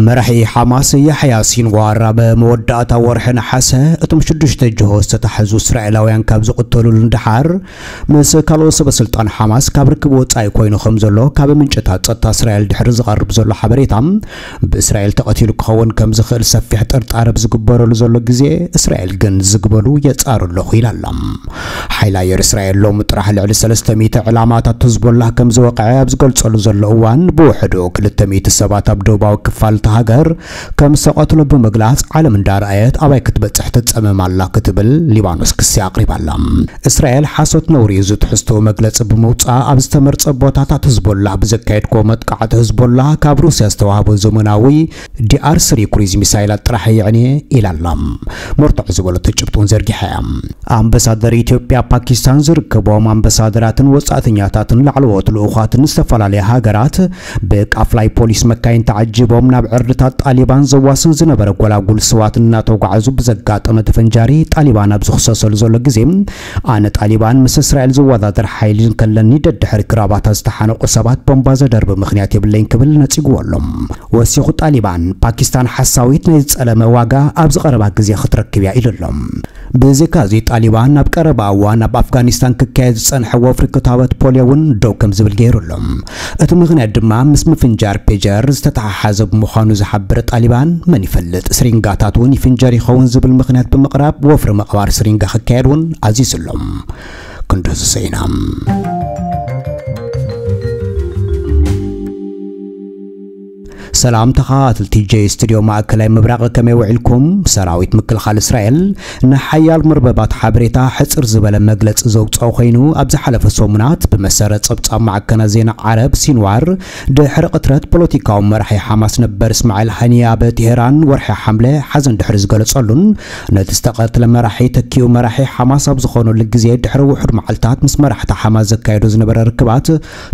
መራሒ ሓማስ ያሕያ ሲንዋር ኣብ መወዳእታ ወርሒ ነሓሰ እቶም ሽዱሽተ ጅሆ ዝተታሕዙ እስራኤላውያን ካብ ዝቕተሉሉ ንደሓር፣ ምስ ካልኦት ሰበ ስልጣን ሓማስ ካብ ርክብ ወጻኢ ኮይኑ ከም ዘሎ ካብ ምንጭታት ጸጥታ እስራኤል ድሕሪ ዝቐርብ ዘሎ ሓበሬታ፣ ብእስራኤል ተቐቲሉ ክኸውን ከም ዝኽእል ሰፊሕ ጥርጣረ ብዝግበረሉ ዘሎ ግዜ፣ እስራኤል ግን ዝግበሉ የጻሩ ኣለኹ ኢላ ኣላ። ሓይሊ ኣየር እስራኤል ሎሚ ጥራሕ ልዕሊ ሰለስተ ሚእቲ ዕላማታት ህዝቦላህ ከም ዝወቕዐ ኣብ ዝገልጸሉ ዘሎ እዋን፣ ብውሕዱ ክልተ ሚእቲ ሰባት ኣብ ደቡባዊ ክፋል እታ ሃገር ከም ዝተቐትሎ ብምግላጽ፣ ዓለም እንዳረኣየት ኣባይ ክትበጽሕ ትጸመም ኣላ ክትብል ሊባኖስ ክሲ ኣቕሪባ ኣላ። እስራኤል ሓሶት ነውሪ እዩ፣ እዚ ትሕዝቶ መግለጺ ብምውጻእ ኣብ ዝተመርጸ ቦታታት ህዝቦላህ ብዘካየድክዎ መጥቃዕቲ፣ ህዝቦላህ ካብ ሩስያ ዝተዋህቦ ዘመናዊ ዲኣር ስሪ ክሩዝ ሚሳይላት ጥራሕ የዕንየ ኢላ ኣላ። መርትዖ ዝበለቶ ጭብጢ እውን ዘርጊሓ እያ። ኣምባሳደር ኢትዮጵያ ኣብ ፓኪስታን ዝርከቦም ኣምባሳደራትን ወጻእተኛታትን ላዕለዎት ልኡኻትን ዝተፈላለያ ሃገራት ብቃፍላይ ፖሊስ መካይን ተዓጂቦም ናብ ዕርድታት ጣሊባን ዘዋስን ዝነበረ ጎላጉል ስዋት እናተጓዓዙ ብዘጋጠመ ተፈንጃሪ ጣሊባን ኣብ ዝኽሰሰሉ ዘሎ ግዜ፣ ኣነ ጣሊባን ምስ እስራኤል ዝወዳደር ሓይሊ እንከለኒ ደድሕሪ ግራባታ ዝተሓነቑ ሰባት ቦምባ ዘደርቢ ምኽንያት የብለይን ክብል ነጺግዎ ኣሎ። ወሲኹ ጣሊባን፣ ፓኪስታን ሓሳዊት ናይ ዝጸለመ ዋጋ ኣብዚ ቀረባ ግዜ ክትረክብ እያ ኢሉ ኣሎ። ብዘይካ እዚ ጣሊባን ኣብ ቀረባ እዋን ኣብ ኣፍጋኒስታን ክካየድ ዝጸንሐ ወፍሪ ክታበት ፖልዮ እውን ደው ከም ዝብል ገይሩ ኣሎ። እቲ ምኽንያት ድማ ምስ ምፍንጃር ፔጀር ዝተተሓሓዘ ብምዃኑ ዝሓበረ ጣሊባን፣ መን ይፈልጥ ስሪንጋታት እውን ይፍንጀር ይኸውን ዝብል ምኽንያት ብምቕራብ ወፍሪ ምቕባር ስሪንጋ ክካየድ እውን ኣዚዙ ኣሎ። ክንዲ ዝሰይና። ሰላም ተኸታተልቲ ጄ ስቱዲዮ ማእከላይ ምብራቕ፣ ከመይ ውዒልኩም? ሰራዊት ምክልኻል እስራኤል ንሓያል መርበባት ሓበሬታ ሕጽር ዝበለ መግለጺ ዘውጽኦ ኮይኑ፣ ኣብ ዝሓለፈ ሰሙናት ብመሰረት ጸብጻብ ማዕከናት ዜና ዓረብ ሲንዋር፣ ድሕሪ ቅትለት ፖለቲካዊ መራሒ ሓማስ ነበር እስማዒል ሃኒያ ኣብ ቴሄራን ወርሒ ሓምለ ሓዘን ድሕሪ ዝገለጸሉን ነቲ ዝተቐትለ መራሒ ተኪኡ መራሒ ሓማስ ኣብ ዝኾነሉ ግዜ ድሕሪ ውሑድ መዓልታት ምስ መራሕቲ ሓማስ ዘካየዶ ዝነበረ ርክባት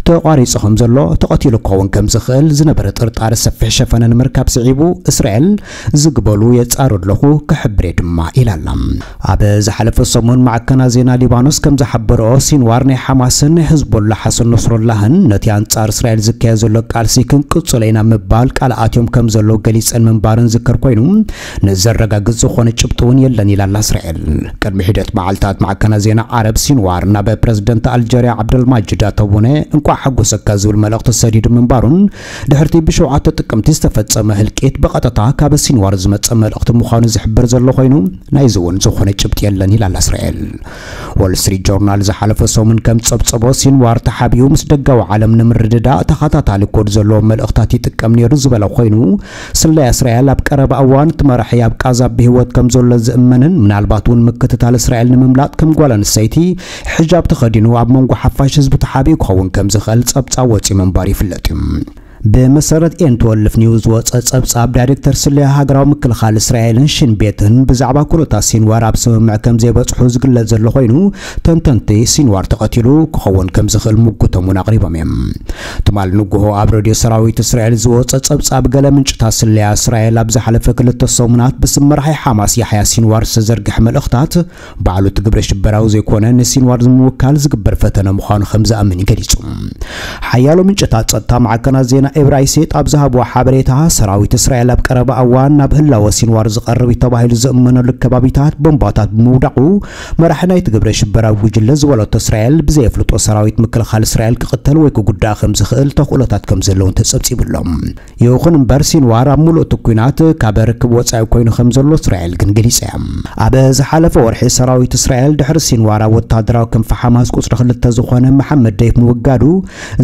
ተቋሪጹ ከም ዘሎ፣ ተቐቲሉ ክኸውን ከም ዝኽእል ዝነበረ ጥርጣረ ሰፊሕ ሸፈነ ንምርካብ ስዒቡ፣ እስራኤል ዝግበሉ የጻሩ ኣለኹ ክሕብር እየ ድማ ኢላ ኣላ። ኣብ ዝሓለፈ ሰሙን ማዕከናት ዜና ሊባኖስ ከም ዝሓበረኦ፣ ሲንዋር ናይ ሓማስን ናይ ህዝቦላ ሓሰን ነስሮላህን ነቲ ኣንጻር እስራኤል ዝካየድ ዘሎ ቃልሲ ክንቅጽሎ ኢና ምባል ቃል ኣትዮም ከም ዘለዉ ገሊጸን ምንባረን ዝከር ኮይኑ፣ ንዘረጋግጽ ዝኾነ ጭብጢ እውን የለን ኢላ ኣላ እስራኤል። ቅድሚ ሒደት መዓልታት ማዕከናት ዜና ዓረብ ሲንዋር ናብ ፕረዚደንት ኣልጀርያ ዓብደልማጅድ ኣተቡነ እንቋዕ ሓጎሰካ ዝብል መልእኽቲ ሰዲዱ ምንባሩን፣ ድሕርቲ ብሸውዓተ ጥቅምቲ ዝተፈጸመ ህልቂት ብቐጥታ ካብ ሲንዋር ዝመጸ መልእኽቲ ምዃኑ ዝሕብር ዘሎ ኮይኑ፣ ናይዚ እውን ዝኾነ ጭብጢ የለን ኢላ ኣላ እስራኤል። ዎል ስትሪት ጆርናል ዝሓለፈ ሰሙን ከም ጸብጸቦ፣ ሲንዋር ተሓቢኡ ምስ ደጋዊ ዓለም ንምርድዳእ ተኸታታሊ ኮድ ዘለዎ መልእኽታት ይጥቀም ነይሩ ዝበለ ኮይኑ፣ ስለያ እስራኤል ኣብ ቀረባ እዋን እቲ መራሒ ኣብ ቃዛ ብህይወት ከም ዘሎ ዝእመንን ምናልባት እውን ምክትታል እስራኤል ንምምላጥ ከም ጓል ኣንስተይቲ ሒጃብ ተኸዲኑ ኣብ መንጎ ሓፋሽ ህዝቢ ተሓቢኡ ክኸውን ከም ዝኽእል ጸብጻብ ወጺኡ ምንባር ይፍለጥ እዩ። ብመሰረት ኤን ትወልፍ ኒውስ ዝወጸ ጸብጻብ፣ ዳይሬክተር ስለያ ሃገራዊ ምክልኻል እስራኤልን ሽን ቤትን ብዛዕባ ኩነታት ሲንዋር ኣብ ስምምዕ ከም ዘይበጽሑ ዝግለጽ ዘሎ ኮይኑ፣ ተንተንቲ ሲንዋር ተቐቲሉ ክኸውን ከም ዝኽእል ምጉቶም እውን ኣቕሪቦም እዮም። ትማል ንግሆ ኣብ ሬድዮ ሰራዊት እስራኤል ዝወጸ ጸብጻብ፣ ገለ ምንጭታት ስለያ እስራኤል ኣብ ዝሓለፈ ክልተ ሰሙናት ብስም መራሒ ሓማስ ያሕያ ሲንዋር ዝተዘርግሐ መልእኽታት ባዕሉ እቲ ግብረ ሽበራዊ ዘይኮነ ንሲንዋር ንምውካል ዝግበር ፈተነ ምዃኑ ከም ዝኣምን እዩ ገሊጹ። ሓያሎ ምንጭታት ጸጥታ ማዕከናት ዜና ኤብራይሴጥ ኣብ ዝሃብዎ ሓበሬታ፣ ሰራዊት እስራኤል ኣብ ቀረባ እዋን ናብ ህላወ ሲንዋር ዝቐርብ እዩ ተባሂሉ ዝእመነሉ ከባቢታት ቦምባታት ብምውዳቑ፣ መራሒ ናይቲ ግብረ ሽበራዊ ጉጅለ ዝበለቶ እስራኤል ብዘየፍልጦ ሰራዊት ምክልኻል እስራኤል ክቕተል ወይ ክጉዳእ ከም ዝኽእል ተኽእሎታት ከም ዘለውን ተጸብጺቡ ኣሎ። ይኹን እምበር፣ ሲንዋር ኣብ ምሉእ እቲ ኲናት ካብ ርክብ ወጻኢ ኮይኑ ከም ዘሎ እስራኤል ግን ገሊጻ እያ። ኣብ ዝሓለፈ ወርሒ፣ ሰራዊት እስራኤል ድሕሪ ሲንዋር ኣብ ወተሃደራዊ ክንፊ ሓማስ ቁጽሪ ክልተ ዝኾነ መሓመድ ደይፍ ምውጋዱ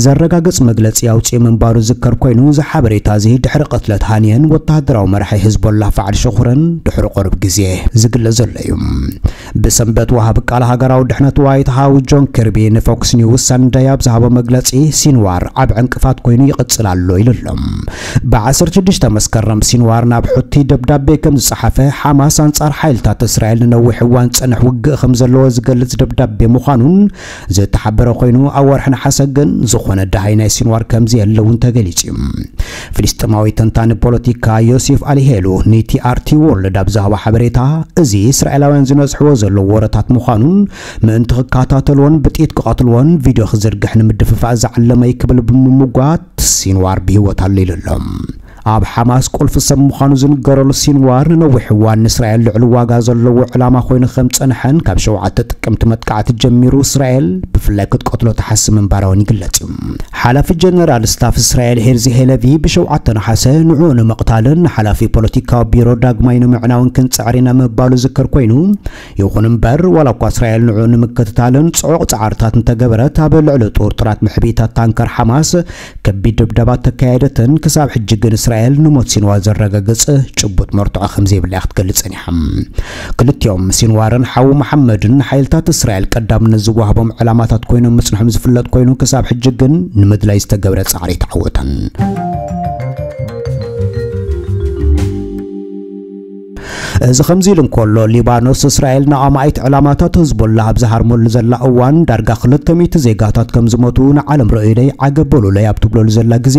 ዘረጋግጽ መግለጺ ኣውጺኡ ምንባሩ ዝከር ኮይኑ፣ እዚ ሓበሬታ እዚ ድሕሪ ቅትለት ሃንየን ወተሃደራዊ መራሒ ህዝቦላህ ፋዕል ሸኹረን ድሕሪ ቁሩብ ግዜ ዝግለጽ ዘሎ እዩ። ብሰንበት፣ ወሃቢ ቃል ሃገራዊ ድሕነት ዋይት ሃውስ ጆን ኪርቢ ንፎክስ ኒውስ ሳንደይ ኣብ ዝሃቦ መግለጺ፣ ሲንዋር ዓቢ ዕንቅፋት ኮይኑ ይቕጽል ኣሎ ኢሉ ኣሎ። ብ ዓሰርተ ሽዱሽተ መስከረም፣ ሲንዋር ናብ ሑቲ ደብዳቤ ከም ዝጸሓፈ፣ ሓማስ ኣንጻር ሓይልታት እስራኤል ንነዊሕ እዋን ዝጸንሕ ውግእ ከም ዘለዎ ዝገልጽ ደብዳቤ ምዃኑን ዝተሓበረ ኮይኑ፣ ኣብ ወርሒ ነሓሰ ግን ዝኾነ ደሃይ ናይ ሲንዋር ከም ዘየለ እውን ተገሊጹ እዩ። ፍልስጤማዊ ተንታኒ ፖለቲካ ዮሴፍ ኣሊሄሉ ንቲኣርቲ ወርልድ ኣብ ዝሃቦ ሓበሬታ፣ እዚ እስራኤላውያን ዝነዝሕዎ ዘለዉ ወረታት ምዃኑን፣ ምእንቲ ክከታተልዎን ብጥይት ክቐትልዎን ቪድዮ ክዝርግሕ ንምድፍፋእ ዝዓለመ እዩ ክብል ብምምጓት፣ ሲንዋር ብህይወት ኣሎ ኢሉ ኣሎ። ኣብ ሓማስ ቁልፊ ሰብ ምዃኑ ዝንገረሉ ሲንዋር ንነዊሕ እዋን ንእስራኤል ልዑል ዋጋ ዘለዎ ዕላማ ኮይኑ ከም ጸንሐን ካብ ሸውዓተ ጥቅምቲ መጥቃዕቲ ጀሚሩ እስራኤል ብፍላይ ክትቀትሎ ትሓስብ ምንባራ እውን ይግለጽ እዩ። ሓላፊ ጀነራል ስታፍ እስራኤል ሄርዚ ሄለቪ ብሸውዓተ ነሓሰ ንዕኡ ንምቕታልን ንሓላፊ ፖለቲካዊ ቢሮ ዳግማይ ንምዕናውን ክንጽዕር ኢና ምባሉ ዝከር ኮይኑ፣ ይኹን እምበር ዋላ እኳ እስራኤል ንዕኡ ንምክትታልን ጽዑቕ ጻዕርታት እንተገበረት ኣብ ልዕሊ ጥርጡራት ምሕቢታት ታንከር ሓማስ ከቢድ ድብደባ ተካየደትን ክሳብ ሕጂ ግን እስራኤል ንሞት ሲንዋር ዘረጋግጽ ጭቡጥ መርትዖ ከም ዘይብላ ክትገልጽ ጸኒሓ። ክልቲኦም ሲንዋርን ሓዉ መሓመድን ሓይልታት እስራኤል ቀዳምነት ዝወሃቦም ዕላማታት ኮይኖም ምጽንሖም ዝፍለጥ ኮይኑ ክሳብ ሕጂ ግን ንምድላይ ዝተገብረ ጻዕሪ ኣይተዓወተን። እዚ ከምዚ ኢሉ እንከሎ ሊባኖስ እስራኤል ንኣማኢት ዕላማታት ህዝቦላ ኣብ ዝሃርመሉ ዘላ እዋን ዳርጋ ክልተ ሚእቲ ዜጋታት ከም ዝሞቱ ንዓለም ርእዩለይ ዓገብ በሉለይ ኣብ ትብለሉ ዘላ ግዜ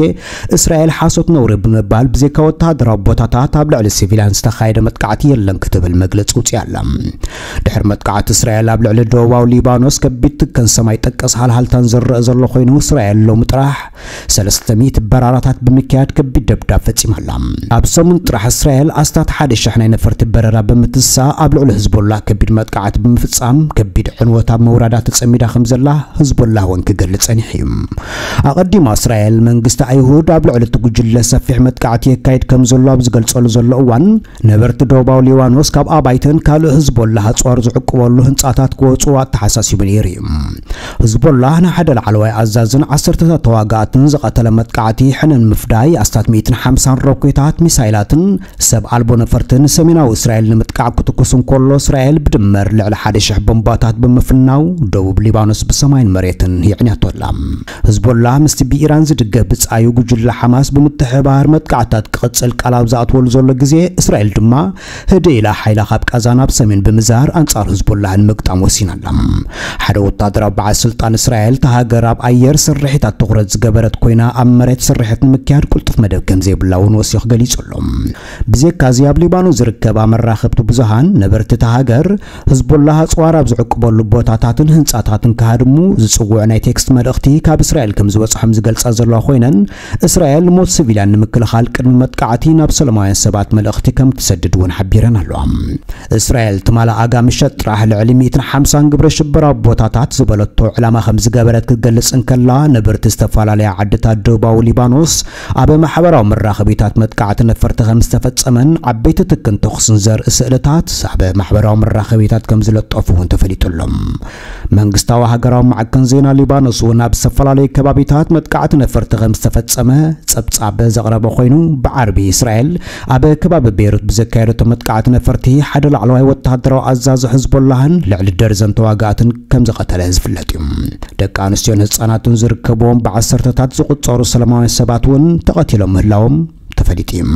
እስራኤል ሓሶት ነውሪ ብምባል ብዘይካ ወተሃደራዊ ቦታታት ኣብ ልዕሊ ሲቪልያን ዝተኻየደ መጥቃዕቲ የለን ክትብል መግለጺ ውጽያ ኣላ። ድሕሪ መጥቃዕቲ እስራኤል ኣብ ልዕሊ ደቡባዊ ሊባኖስ ከቢድ ትከን ሰማይ ጠቀስ ሃልሃልታን ዝረአ ዘሎ ኮይኑ እስራኤል ሎሚ ጥራሕ ሰለስተ ሚእቲ በራራታት ብምክያድ ከቢድ ደብዳብ ፈጺማ ኣላ። ኣብ ሰሙን ጥራሕ እስራኤል ኣስታት ሓደ ሽሕ ናይ ነፈርቲ በረራ ብምትሳ ኣብ ልዕሊ ህዝቦላ ከቢድ መጥቃዕቲ ብምፍጻም ከቢድ ዕንወት ኣብ መውራዳ ተጸሚዳ ከም ዘላ ህዝቦላ እውን ክገልጽ ጸኒሑ እዩ። ኣቐዲማ እስራኤል መንግስቲ ኣይሁድ ኣብ ልዕሊ እቲ ጉጅለ ሰፊሕ መጥቃዕቲ የካይድ ከም ዘሎ ኣብ ዝገልጸሉ ዘሎ እዋን ነበርቲ ደቡባዊ ሊባኖስ ካብ ኣባይትን ካልእ ህዝቦላ ኣጽዋር ዝዕቅበሉ ህንጻታት ክወጹ ኣተሓሳሲቡ ነይሩ እዩ። ህዝቦላ ንሓደ ላዕለዋይ ኣዛዝን ዓሰርተታት ተዋጋእትን ዝቐተለ መጥቃዕቲ ሕነ ንምፍዳይ ኣስታት ሚእትን ሓምሳን ሮኬታት፣ ሚሳይላትን ሰብ ኣልቦ ነፈርትን ሰሜናዊ እስራኤል ንምጥቃዕ ክትኩስ እንከሎ እስራኤል ብድምር ልዕሊ ሓደ ሽሕ ቦምባታት ብምፍናው ደቡብ ሊባኖስ ብሰማይን መሬትን የዕንያቶ ኣላ። ህዝቦላ ምስቲ ብኢራን ዝድገፍ ብጻዩ ጉጅለ ሓማስ ብምትሕባር መጥቃዕታት ክቕጽል ቃል ኣብ ዝኣትወሉ ዘሎ ግዜ እስራኤል ድማ ህድእ ኢላ ሓይላ ካብ ቃዛ ናብ ሰሜን ብምዛር ኣንጻር ህዝቦላህ ንምግጣም ወሲና ኣላ። ሓደ ወታደራዊ በዓል ስልጣን እስራኤል እታ ሃገር ኣብ ኣየር ስርሒታት ትኹረት ዝገበረት ኮይና ኣብ መሬት ስርሒት ንምክያድ ቁልጡፍ መደብ ከም ዘይብላ እውን ወሲኹ ገሊጹ ኣሎ። ብዘይካዚ ኣብ ሊባኖስ ዝርከባ መራኸብቲ ብዙሃን ነበርቲ እታ ሃገር ህዝቦላህ ኣጽዋር ኣብ ዝዕቅበሉ ቦታታትን ህንጻታትን ክሃድሙ ዝጽውዕ ናይ ቴክስት መልእኽቲ ካብ እስራኤል ከም ዝበጽሖም ዝገልጻ ዘለዋ ኮይነን እስራኤል ሞት ሲቪልያን ንምክልኻል ቅድሚ መጥቃዕቲ ናብ ሰላማውያን ሰባት መልእኽቲ ከም ትሰድድ እውን ሓቢረን ኣለዋ። እስራኤል ትማሊ ኣጋ ምሸት ጥራሕ ልዕሊ ሚእትን ሓምሳን ግብረ ሽበራዊ ቦታታት ዝበለቶ ዕላማ ከም ዝገበረት ክትገልጽ እንከላ ነበርቲ ዝተፈላለያ ዓድታት ደቡባዊ ሊባኖስ ኣብ ማሕበራዊ መራኸቢታት መጥቃዕቲ ነፈርቲ ከም ዝተፈጸመን ዓበይቲ ትክን ተኹስን ዘርኢ ስእልታት ኣብ ማሕበራዊ መራኸቢታት ከም ዝለጠፉ እውን ተፈሊጡ ኣሎ። መንግስታዊ ሃገራዊ ማዕከን ዜና ሊባኖስ እውን ኣብ ዝተፈላለዩ ከባቢታት መጥቃዕቲ ነፈርቲ ከም ዝተፈጸመ ጸብጻብ ዘቕረበ ኮይኑ ብዓርቢ እስራኤል ኣብ ከባቢ ቤይሩት ብዘካየደቶ መጥቃዕቲ ነፈርቲ ሓደ ላዕለዋይ ወተሃደራዊ ኣዛዚ ሕዝቦላህን ልዕሊ ደርዘን ተዋጋእትን ከም ዝቐተለ ዝፍለጥ እዩ። ደቂ ኣንስትዮን ህጻናትን ዝርከብዎም ብዓሰርተታት ዝቑጸሩ ሰላማውያን ሰባት እውን ተቐቲሎም ምህላዎም ተፈሊጡ እዩ።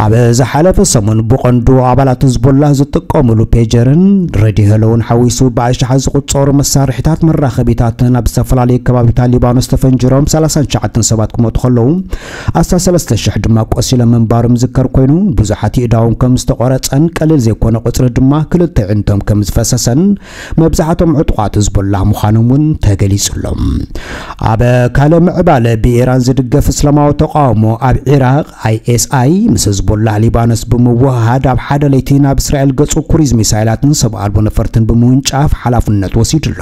ኣብ ዝሓለፈ ሰሙን ብቐንዱ ኣባላት ህዝቦላ ዝጥቀሙሉ ፔጀርን ሬድዮ ሄሎውን ሓዊሱ ብኣሽሓት ዝቑጸሩ መሳርሒታት መራኸቢታትን ኣብ ዝተፈላለዩ ከባቢታት ሊባኖስ ተፈንጅሮም ሰላሳን ትሽዓተን ሰባት ክሞቱ ከለዉ ኣስታት ሰለስተ ሽሕ ድማ ቆሲሎም ምንባሮም ዝከር ኮይኑ ብዙሓት ይእዳዎም ከም ዝተቖረጸን ቀሊል ዘይኮነ ቁጽሪ ድማ ክልተ ዕንቶም ከም ዝፈሰሰን መብዛሕቶም ዕጡቓት ህዝቦላ ምዃኖም እውን ተገሊጹ ኣሎ። ኣብ ካልእ ምዕባለ ብኢራን ዝድገፍ እስላማዊ ተቃውሞ ኣብ ዒራቕ ኣይኤስኣይ ምስ ህዝቦላ ሊባኖስ ብምውህሃድ ኣብ ሓደ ለይቲ ናብ እስራኤል ገጹ ክሩዝ ሚሳይላትን ሰብ ኣልቦ ነፈርትን ብምውንጫፍ ሓላፍነት ወሲዱ ኣሎ።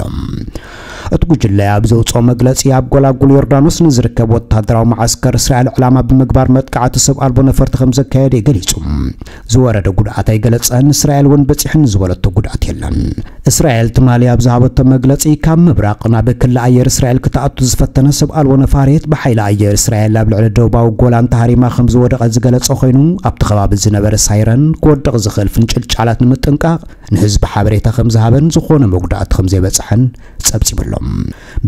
እቲ ጉጅለ ኣብ ዘውፅኦ መግለፂ ኣብ ጎላጉል ዮርዳኖስ ንዝርከብ ወታደራዊ መዓስከር እስራኤል ዕላማ ብምግባር መጥቃዕቲ ሰብ ኣልቦ ነፈርቲ ከም ዘካየደ ገሊጹ። ዝወረደ ጉድኣት ኣይገለጸን። እስራኤል እውን በፂሕኒ ዝበለቶ ጉድኣት የለን። እስራኤል ትማሊ ኣብ ዝሃበቶ መግለፂ ካብ ምብራቕ ናብ ክሊ ኣየር እስራኤል ክትኣቱ ዝፈተነ ሰብ ኣልቦ ነፋሪት ብሓይሊ ኣየር እስራኤል ኣብ ልዕሊ ደቡባዊ ጎላን ተሃሪማ ከም ዝወደቐ ዝገለጸ ኮይኑ ኣብቲ ከባቢ ዝነበረ ሳይረን ክወድቕ ዝኽእል ፍንጭልጫላት ንምጥንቃቕ ንህዝቢ ሓበሬታ ከም ዝሃበን ዝኾነ መጉዳእቲ ከም ዘይበጽሐን ጸብጺቡ ኣሎ።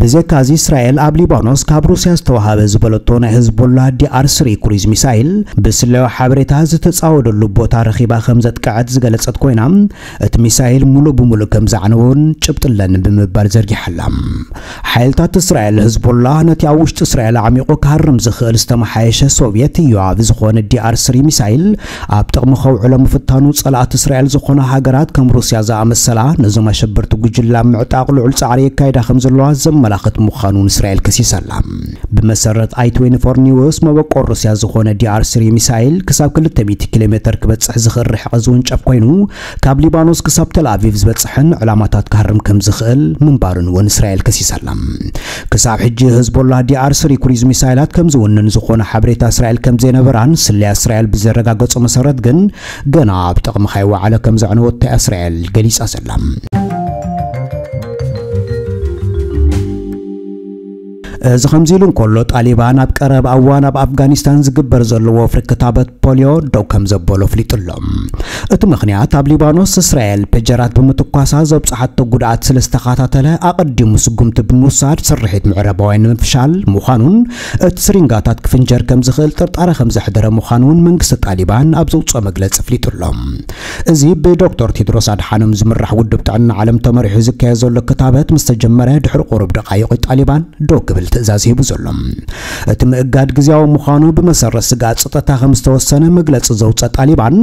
ብዘይካዚ እስራኤል ኣብ ሊባኖስ ካብ ሩስያ ዝተዋሃበ ዝበለቶ ናይ ህዝቦላ ዲኣር ስሪ ክሩዝ ሚሳይል ብስለያዊ ሓበሬታ ዝተጻወደሉ ቦታ ረኺባ ከም ዘጥቅዐት ዝገለጸት ኮይና እቲ ሚሳይል ሙሉእ ብሙሉእ ከም ዘዕነወን ጭብጢ ኣለኒ ብምባል ዘርጊሓላ። ሓይልታት እስራኤል ህዝቦላ ነቲ ኣብ ውሽጢ እስራኤል ኣዕሚቑ ክሃርም ዝኽእል ዝተመሓየሸ ሶቭየት ዮኣቭ ዝኾነ ዲኣር ስሪ ሚሳይል ሚሳይል ኣብ ጥቕሚ ከውዕሎ ምፍታኑ ጸላእቲ እስራኤል ዝኾና ሃገራት ከም ሩስያ ዝኣመሰላ ነዞም ኣሸበርቲ ጉጅላ ምዕጣቕ ልዑል ጻዕሪ የካይዳ ከም ዘለዋ ዘመላኽት ምዃኑ እውን እስራኤል ከሲሳ ኣላ። ብመሰረት ኣይ ትዌንቲ ፎር ኒውስ፣ መበቆል ሩስያ ዝኾነ ዲ ኣር ስሪ ሚሳይል ክሳብ ክልተ ሚእቲ ኪሎ ሜተር ክበጽሕ ዝኽእል ርሕቐት ዝውንጨፍ ኮይኑ፣ ካብ ሊባኖስ ክሳብ ተልኣቪቭ ዝበጽሕን ዕላማታት ክሃርም ከም ዝኽእል ምንባሩን እውን እስራኤል ከሲሳ ኣላ። ክሳብ ሕጂ ህዝቦላህ ዲ ኣር ስሪ ክሩዝ ሚሳይላት ከም ዝውንን ዝኾነ ሓበሬታ እስራኤል ከም ዘይነበራን፣ ስለያ እስራኤል ብዘረጋገጾ መሰረት ግን፣ ገና ኣብ ጥቕሚ ከይወዓለ ከም ዘዕነወቶ እያ እስራኤል ገሊጻ ዘላ። እዚ ከምዚ ኢሉ እንከሎ፣ ጣሊባን ኣብ ቀረባ እዋን ኣብ ኣፍጋኒስታን ዝግበር ዘሎ ወፍሪ ክታበት ፖሊዮ ደው ከም ዘበሎ ኣፍሊጡ ኣሎ። እቲ ምኽንያት፣ ኣብ ሊባኖስ እስራኤል ፔጀራት ብምትኳሳ ዘብጽሓቶ ጉድኣት ስለ ዝተኸታተለ፣ ኣቐዲሙ ስጉምቲ ብምውሳድ ስርሒት ምዕራባውያን ንምፍሻል ምዃኑን እቲ ስሪንጋታት ክፍንጀር ከም ዝኽእል ጥርጣረ ከም ዘሕደረ ምዃኑ እውን መንግስቲ ጣሊባን ኣብ ዘውጽኦ መግለጺ ኣፍሊጡ ኣሎ። እዚ ብዶክተር ቴድሮስ ኣድሓኖም ዝምራሕ ውድብ ጥዕና ዓለም ተመሪሑ ዝካየድ ዘሎ ክታበት ምስ ተጀመረ ድሕሪ ቁሩብ ደቓይቕ፣ ጣሊባን ደው ክብል ትእዛዝ ሂቡ ዘሎ። እቲ ምእጋድ ግዝያዊ ምዃኑ ብመሰረት ስግኣት ጸጥታ ከም ዝተወሰነ መግለጺ ዘውጸ ጣሊባን፣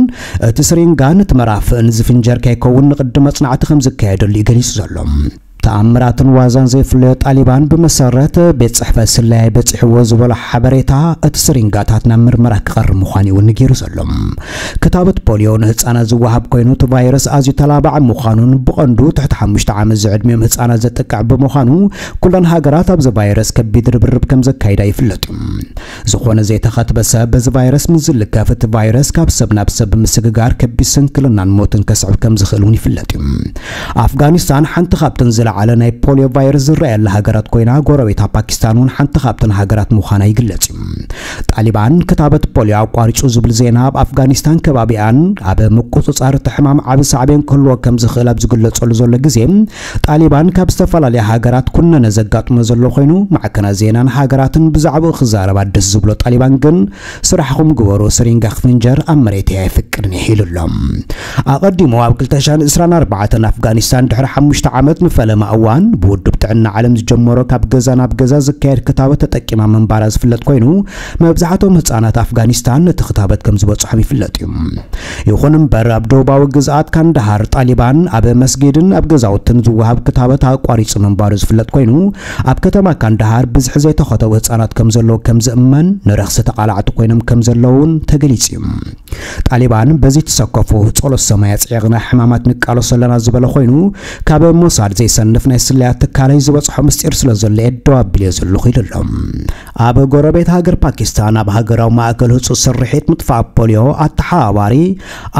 እቲ ስሪንጋን እቲ መራፍእን ዝፍንጀር ከይከውን ንቕድመ መጽናዕቲ ከም ዝካየደሉ እዩ ገሊጹ ዘሎ። ተኣምራትን ዋዛን ዘይፍለዮ ጣሊባን፣ ብመሰረት ቤት ጽሕፈት ስለያ በጺሕዎ ዝበሎ ሓበሬታ፣ እቲ ስሪንጋታት ናብ ምርመራ ክቐርብ ምዃኑ እዩ እውን ነጊሩ ዘሎ። ክታበት ፖሊዮ ንህጻናት ዝወሃብ ኮይኑ፣ እቲ ቫይረስ ኣዝዩ ተላባዒ ምዃኑን ብቐንዱ ትሕቲ ሓሙሽተ ዓመት ዝዕድሚኦም ህጻናት ዘጥቅዕ ብምዃኑ፣ ኩለን ሃገራት ኣብዚ ቫይረስ ከቢድ ርብርብ ከም ዘካይዳ ይፍለጥ እዩ። ዝኾነ ዘይተኸትበ ሰብ በዚ ቫይረስ ምስ ዝልከፍ፣ እቲ ቫይረስ ካብ ሰብ ናብ ሰብ ብምስግጋር ከቢድ ስንክልናን ሞትን ከስዕብ ከም ዝኽእል እውን ይፍለጥ እዩ። ኣፍጋኒስታን ሓንቲ ካብተን ዝለዓለ ናይ ፖሊዮ ቫይረስ ዝረኣየላ ሃገራት ኮይና፣ ጎረቤታ ፓኪስታን እውን ሓንቲ ካብተን ሃገራት ምዃና ይግለጽ እዩ። ጣሊባን ክታበት ፖሊዮ ኣቋሪጹ ዝብል ዜና፣ ኣብ ኣፍጋኒስታን ከባቢኣን ኣብ ምቁጽጻር እቲ ሕማም ዓቢ ሳዕቤን ክህልዎ ከም ዝኽእል ኣብ ዝግለጸሉ ዘሎ ግዜ፣ ጣሊባን ካብ ዝተፈላለያ ሃገራት ኩነነ ዘጋጥሞ ዘሎ ኮይኑ፣ ማዕከናት ዜናን ሃገራትን ብዛዕባኡ ክዛረባ ደስ ዝብሎ ጣሊባን ግን፣ ስራሕኹም ግበሩ፣ ስሪንጋ ክፍንጀር ኣብ መሬተይ ኣይፍቅድን እየ ኢሉ ኣሎ። ኣቐዲሙ ኣብ ክልተ ሽሕን ዕስራን ኣርባዕተን ኣፍጋኒስታን ድሕሪ ሓሙሽተ ዓመት ንፈለማ እዋን ብውድብ ጥዕና ዓለም ዝጀመሮ ካብ ገዛ ናብ ገዛ ዝካየድ ክታበት ተጠቂማ ምንባራ ዝፍለጥ ኮይኑ፣ መብዛሕትኦም ህጻናት ኣፍጋኒስታን ነቲ ክታበት ከም ዝበጽሖም ይፍለጥ እዩ። ይኹን እምበር፣ ኣብ ደቡባዊ ግዝኣት ካንዳሃር ጣሊባን ኣብ መስጊድን ኣብ ገዛውትን ዝወሃብ ክታበት ኣቋሪጹ ምንባሩ ዝፍለጥ ኮይኑ፣ ኣብ ከተማ ካንዳሃር ብዝሒ ዘይተኸተቡ ህጻናት ከም ዘለዉ ከም ዝእመን፣ ንረኽሲ ተቓላዕቲ ኮይኖም ከም ዘለዉ እውን ተገሊጹ እዩ። ጣሊባን በዚ ተሰከፉ ጸሎት ሰማይ ኣጽዒቕና ሕማማት ንቃለሶ ኣለና ዝበለ ኮይኑ፣ ካብ ሞሳድ ዘይሰንፍ ናይ ስለያ ትካለይ ዝበጽሖ ምስጢር ስለ ዘሎ እየ ደው ኣቢለዮ ዘለኹ ኢሉ ኣሎ። ኣብ ጎረቤት ሃገር ፓኪስታን ኣብ ሃገራዊ ማእከል ህጹጽ ስርሒት ምጥፋእ ፖሊዮ ኣተሓባባሪ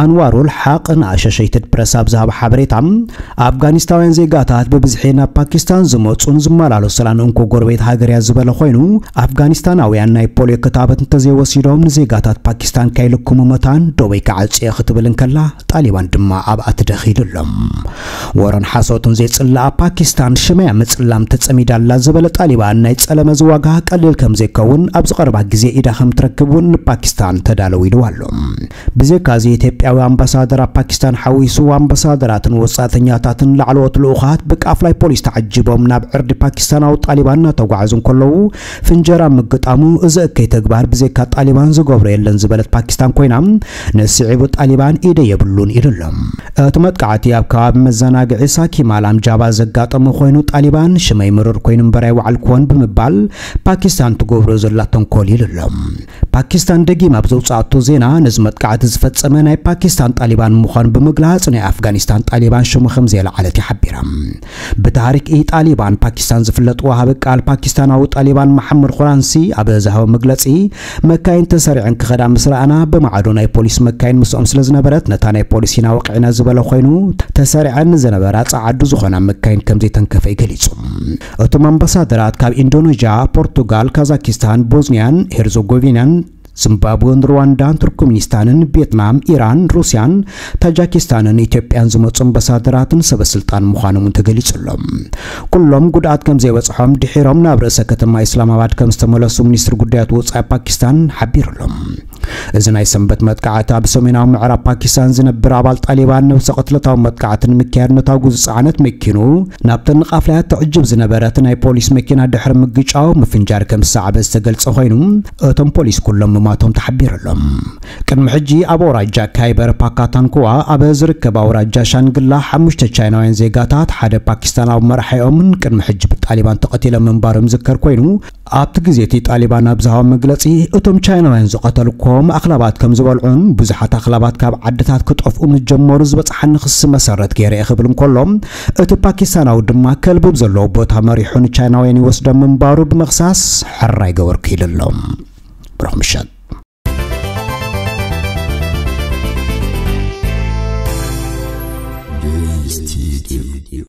ኣንዋሩል ሓቕ ንኣሾሸይትድ ፕረስ ኣብ ዝሃቦ ሓበሬታ፣ ኣፍጋኒስታውያን ዜጋታት ብብዝሒ ናብ ፓኪስታን ዝመጹን ዝመላለሱላን እንኮ ጎረቤት ሃገር እያ ዝበለ ኮይኑ፣ ኣፍጋኒስታናውያን ናይ ፖሊዮ ክታበት እንተዘይወሲዶም ንዜጋታት ፓኪስታን ከይልክሙ መታን ደወይ ክዓጽዮ ክትብል እንከላ፣ ጣሊባን ድማ ኣብኣ ትደኺሉ ኣሎ። ወረን ሓሶትን ዘይጽላኣ ፓኪስታን ሽመያ ምጽላም ተጸሚዳ ኣላ ዝበለ ጣሊባን፣ ናይ ጸለመ እዚ ዋጋ ቀሊል ከም ዘይከውን፣ ኣብዚ ቀረባ ግዜ ኢዳ ከም ትረክብ እውን ንፓኪስታን ተዳለዉ ኢልዋ ኣሎ። ብዘይካዚ፣ ኢትዮጵያዊ ኣምባሳደር ኣብ ፓኪስታን ሓዊሱ ኣምባሳደራትን ወጻእተኛታትን ላዕለዎት ልኡኻት ብቃፍላይ ፖሊስ ተዓጂቦም ናብ ዕርዲ ፓኪስታናዊ ጣሊባን እናተጓዓዙ እንከለዉ፣ ፍንጀራ ምግጣሙ፣ እዚ እከይ ተግባር ብዘይካ ጣሊባን ዝገብሮ የለን ዝበለት ፓኪስታን ኮይና፣ ንስዒቡ ጣሊባን ኢደ የብሉን ኢሉ ኣሎ። እቲ መጥቃዕቲ ኣብ ከባቢ መዘናግዒ ሳኪማል ኣምጃባ ዘጋጠመ ኮይኑ፣ ጣሊባን ሽመይ ምሩር ኮይኑ እምበር ኣይወዓልኩዎን ብምባል ፓኪስታን ትገብሮ ዘላ ተንኮል ኢሉ ኣሎ። ፓኪስታን ደጊም ኣብ ዘውጻኣቶ ዜና፣ ነዚ መጥቃዕቲ ዝፈጸመ ናይ ፓኪስታን ጣሊባን ምዃኑ ብምግላጽ፣ ናይ ኣፍጋኒስታን ጣሊባን ሽሙ ከም ዘየለዓለት እያ ሓቢራ። ብታሪክ ኢ ጣሊባን ፓኪስታን ዝፍለጥ ወሃቢ ቃል ፓኪስታናዊ ጣሊባን መሓመድ ኹራንሲ ኣብ ዝሃቦ መግለጺ፣ መካይን ተሰሪዐን ክኸዳ ምስ ረኣና፣ ብማዕዶ ናይ ፖሊስ መካይን ምስኦም ስለ ዝነበረት፣ ነታ ናይ ፖሊስ ኢና ወቂዕና ዝበለ ኮይኑ፣ ተሰሪዐን ንዝነበራ ጸዓዱ ዝኾና መካይን ከም ዘይተንከፈ እዩ ገሊጹ። እቶም ኣምባሳደራት ካብ ኢንዶኔዥያ፣ ፖርቱጋል፣ ካዛኪስታን፣ ቦዝኒያን ሄርዞጎቪናን፣ ዚምባብወን፣ ሩዋንዳን፣ ቱርክሚኒስታንን፣ ቪየትናም፣ ኢራን፣ ሩስያን፣ ታጃኪስታንን ኢትዮጵያን ዝመጹ ኣምባሳደራትን ሰበ ስልጣን ምዃኖም እውን ተገሊጹ ኣሎ። ኩሎም ጉድኣት ከም ዘይበጽሖም ድሒሮም ናብ ርእሰ ከተማ ኢስላማባድ ከም ዝተመለሱ ሚኒስትሪ ጉዳያት ወጻኢ ፓኪስታን ሓቢሩ ኣሎ። እዚ ናይ ሰንበት መጥቃዕቲ ኣብ ሰሜናዊ ምዕራብ ፓኪስታን ዝነብር ኣባል ጣሊባን ነብሰ ቅትለታዊ መጥቃዕቲ ንምክያድ ነታጉ ዝጸዓነት መኪኑ ናብተን ንቃፍላያት ትዕጅብ ዝነበረት ናይ ፖሊስ መኪና ድሕሪ ምግጫው ምፍንጃር ከም ዝሰዓበ ዝተገልጸ ኮይኑ፣ እቶም ፖሊስ ኩሎም ምማቶም ተሓቢሩ ኣሎ። ቅድሚ ሕጂ ኣብ ኣውራጃ ካይበር ፓካታንኩዋ ኣብ ዝርከብ ኣውራጃ ሻንግላ ሓሙሽተ ቻይናውያን ዜጋታት ሓደ ፓኪስታናዊ መራሒኦምን ቅድሚ ሕጂ ብጣሊባን ተቐቲሎም ምንባሮም ዝከር ኮይኑ፣ ኣብቲ ግዜ እቲ ጣሊባን ኣብ ዝሃቦ መግለጺ፣ እቶም ቻይናውያን ዝቐተልኮም ኣኽላባት ከም ዝበልዑን ብዙሓት ኣኽላባት ካብ ዓድታት ክጠፍኡ ምስ ጀመሩ ዝበጽሓኒ ክሲ መሰረት ገይረ እየ ክብል እንከሎ፣ እቲ ፓኪስታናዊ ድማ ከልቢ ኣብ ዘለዎ ቦታ መሪሑ ንቻይናውያን ይወስዶም ምንባሩ ብምኽሳስ ሕራይ ገበርኩ ኢሉ ኣሎ። ብሩኽ ምሸት።